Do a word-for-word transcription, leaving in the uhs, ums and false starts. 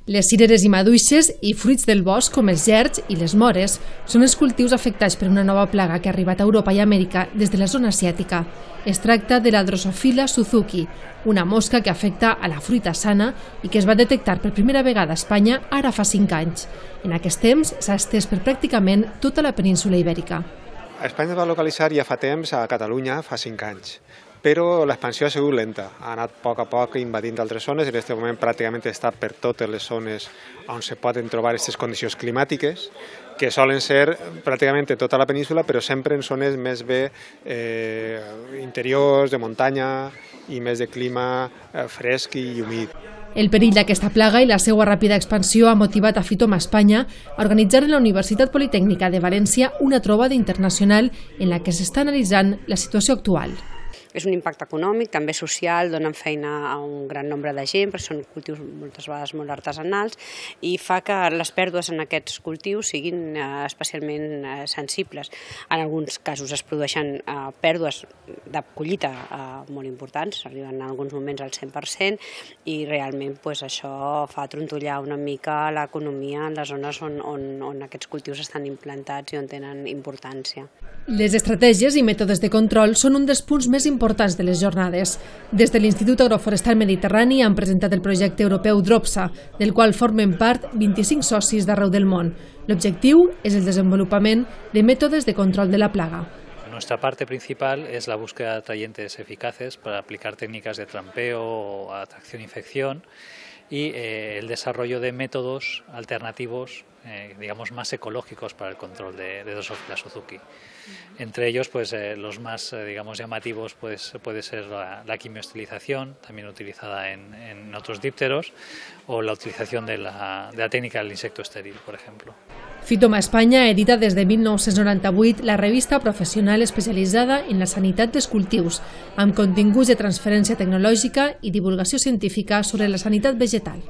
Les cireres i maduixes i fruits del bosc, com els gerds i les mores, són els cultius afectats per una nova plaga que ha arribat a Europa i Amèrica des de la zona asiàtica. Es tracta de la Drosophila suzuki, una mosca que afecta a la fruita sana i que es va detectar per primera vegada a Espanya ara fa cinc anys. En aquest temps s'ha estès per pràcticament tota la península ibèrica. A Espanya es va localitzar ja fa temps, a Catalunya fa cinc anys. Però l'expansió ha sigut lenta, ha anat a poc a poc invadint altres zones i en aquest moment pràcticament està per totes les zones on se poden trobar aquestes condicions climàtiques, que solen ser pràcticament en tota la península, però sempre en zones més bé eh, interiors, de muntanya i més de clima eh, fresc i humit. El perill d'aquesta plaga i la seva ràpida expansió ha motivat a Phytoma Espanya a organitzar en la Universitat Politècnica de València una trobada internacional en la que s'està analitzant la situació actual. És un impacte econòmic, també social, donen feina a un gran nombre de gent, perquè són cultius moltes vegades molt artesanals, i fa que les pèrdues en aquests cultius siguin especialment sensibles. En alguns casos es produeixen pèrdues de collita molt importants, arriben en alguns moments al cent per cent, i realment això fa trontollar una mica l'economia en les zones on aquests cultius estan implantats i on tenen importància. Les estratègies i mètodes de control són un dels punts més importants de les jornades. Des de l'Institut Agroforestal Mediterrani han presentat el projecte europeu DROPSA, del qual formen part vint-i-cinc socis d'arreu del món. L'objectiu és el desenvolupament de mètodes de control de la plaga. Nuestra parte principal es la búsqueda de atrayentes eficaces para aplicar técnicas de trampeo, atracción-infección y eh, el desarrollo de métodos alternativos, eh, digamos, más ecológicos para el control de, de Drosophila suzuki. Entre ellos, pues, eh, los más eh, digamos, llamativos pues, puede ser la, la quimioestilización, también utilizada en, en otros dípteros, o la utilización de la, de la técnica del insecto estéril, por ejemplo. Phytoma Espanya edita des de mil nou-cents noranta-vuit la revista professional especialitzada en la sanitat dels cultius, amb continguts de transferència tecnològica i divulgació científica sobre la sanitat vegetal.